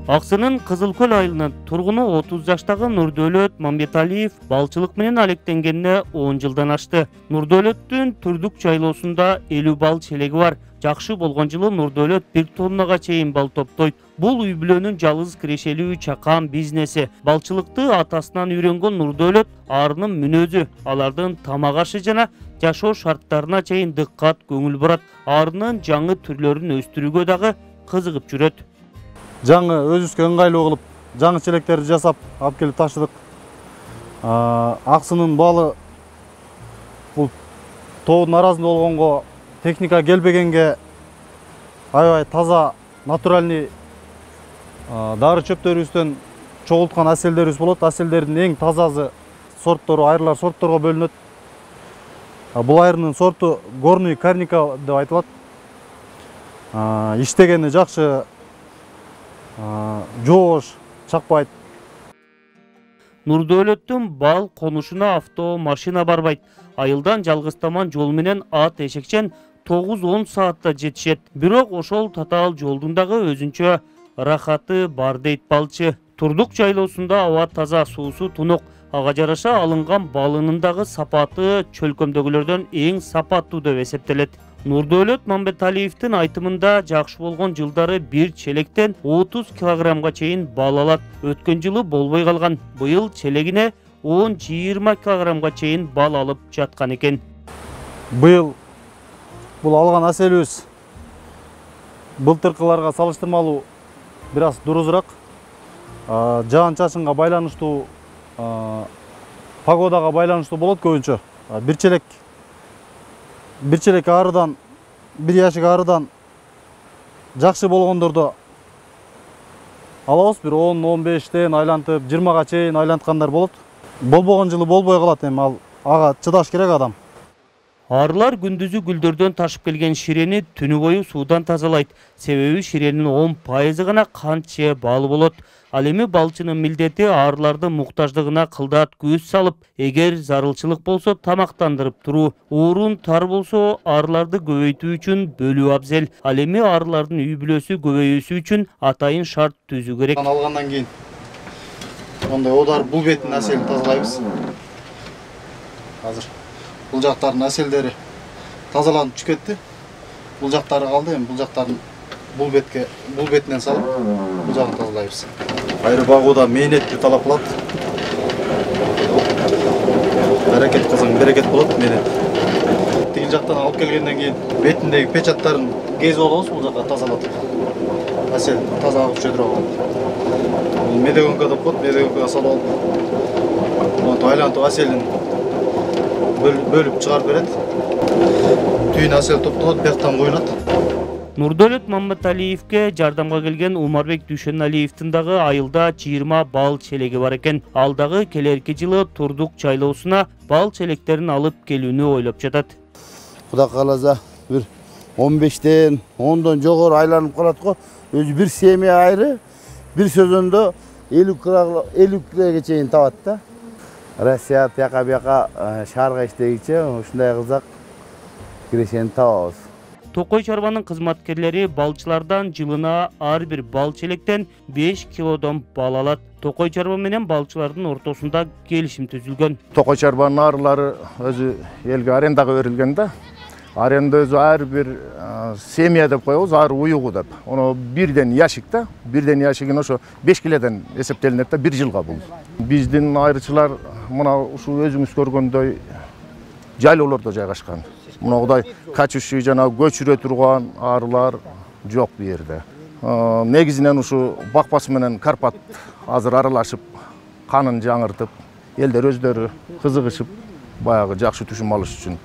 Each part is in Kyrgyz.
Аксынын Кызылкөл айылынын тургуну 30 жаштагы Нурдөөлөт Мамбеталиев балчылык менен алектенгенине 10 жылдан ашты. Нурдөөлөттүн Түрдүк жайлоосунда 50 бал челеги бар. Жакшы болгон жылы Нурдөөлөт 1 тоннага чейин бал топтойт. Бул үй бүлөнүн жалгыз кирешелүү чакан бизнеси. Балчылыкты атасынан үйрөнгөн Нурдөөлөт арынын мүнөзү, алардын тамак ашы жана жашоо шарттарына чейин дыккат көңүл бурат. Арынын жаңы түрлөрүн өстүрүүгө дагы кызыгып жүрөт. Жаңы өзүбүзгө ыңгайлуу кылып, жаңы челектерди жасап, алып келип таштыдык. Аксынын балы бул тоодун арасында болгонго техника келбегенге аябай таза, натуральный дары чөптөрүбүздөн чогулткан аселдерибиз болот. Аселдердин эң тазасы сорттору айырлар сортторго бөлүнөт. Бул айырынын сорту горный карника деп айтылат. Иштегени жакшы, жоош, чакпайт. Нурдөөлөттүн бал конушуна авто машина барбайт. Айылдан жалгызтаман жол менен ат эшекчен 9-10 саатта жетишет. Бирок ошол татаал жолдун дагы өзүнчө рахаты бар дейт балчы. Турдук жайлоосунда аба таза, суусу тунук. Ага жараша алынган балынын дагы сапаты чөлкөмдөгүлөрдөн эң сапаттуу деп эсептелет. Нурдөөлөт Мамбеталиевдин айтымында жакшы болгон жылдары бир челектен 30 килограммга чейин бал алат. Өткөн жылы болбой калган. Быйыл челегине 10-20 килограммга чейин бал алып жаткан экен. Быйыл бул алган аселибиз былтыркыларга салыштырмалуу бир аз дурузураак. Жаан-чачынга байланыштуу, погодага байланыштуу болот көбүнчө. Бир челек арыдан, бир яшик арыдан жакшы болгондордо алабыз, бир 10-15тен айлантып, 20га чейин айланткандар болот. Болбогон жылы болбой калат, эми ал ага чыдаш керек адам. Арылар күндүзү гүлдөрдөн ташып келген ширени түнү бою суудан тазалайт. Себеби ширенин 10% гана кант же балы болот. Ал эми балчынын милдети арылардын муктаждыгына кылдат көз салып, эгер зарылчылык болсо тамактандырып туруу, уурун тар болсо арыларды көбөйтүү үчүн бөлүү абзел. Ал эми арылардын үй бүлөсү көбөйүүсү үчүн атайын шарт түзүү керек. Алгандан кийин ондай одар бул бетин аселин тазалайбыз. Азыр бул жактардын аселдери тазаланып түшүп кетти. Бул жактары калды, эми бул жактарын бул бетинен салып, бул жагын тазалайбыз. Айры багууда мээнетти талап кылат. Аракет кылсаң берекет болот, мээнет. Тиги жактан алып келгенден кийин бетиндеги печаттарын кезип алабыз, бул жакка тазалатып. Асел таза агып жүрө алат. Бул медогонка деп коет, медогонкага салып алып, монтип айлантып аселин бөлүп чыгарып берет. Түйүн асел топтолот, бияктан куюлат. Нурдөөлөт Мамбеталиевке жардамга келген Умарбек Дүйшөналиевдин дагы айылда 20 бал челеги бар экен. Ал дагы келерки жылы Турдук жайлоосуна бал челектерин алып келүүнү ойлоп жатат. Кудай кааласа бир 15тен 10дон жогору айланып калат го. Өзү бир семья айры бир сезондо 50 килоге чейин табат да. Россия тияка бияка шаарга иштегиче ушундай кылсак кирешени табабыз. Токой чарбанын кызматкерлери балчылардан жылына ар бир бал челектен 5 килодон бал алат. Токой чарба менен балчылардын ортосунда келишим түзүлгөн. Токой чарбанын арылары өзү элге арендага берилген да. Аренда өзү ар бир семья деп коебуз, ар уюгу деп. Оно бирден яшик да. Бирден яшигин ошо 5 килодон эсептелинет да, 1 жылга бул. Биздин айрычылар мына ушул өзүңүз көргөндөй жайлоолордо жайгашкан. Мынагыдай качующий жана көчүрө турган арылар жок бу жерде. Негизинен ушу бакпасы менен Карпат азыр аралашып, канын жаңыртып, элдер өздөрү кызыгышып, баягы жакшы түшүм алыш үчүн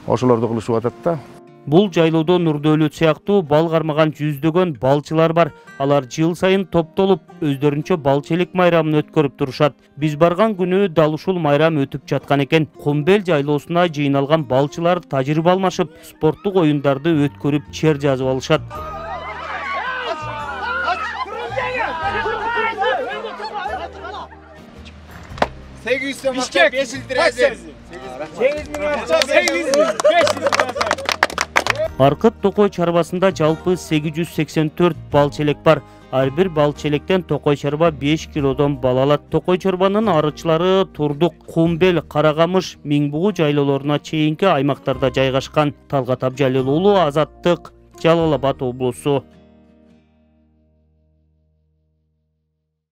ошолорду кылышып атат да. Бул жайлоодо Нурдөөлөт сыяктуу бал кармаган жүздөгөн балчылар бар. Алар жыл сайын топтолуп, өздөрүнчө бал челек майрамын өткөрүп турушат. Биз барган күнү дал ушул майрам өтүп жаткан экен. Кумбел жайлоосуна жыйналган балчылар тажрыйба алмашып, спорттук оюндарды өткөрүп чер жазып алышат. Аркыт Токой чарбасында жалпы 884 бал челек бар. Ар бир бал челектен токой чарба 5 килодон бал алат. Токой чарбанын арычылары Турдук, Кумбел, Карагамыш, Миңбугу жайлоолоруна чейинки аймактарда жайгашкан. Талгат Абжалил уулу, Азаттык, Жалал Абад облусу.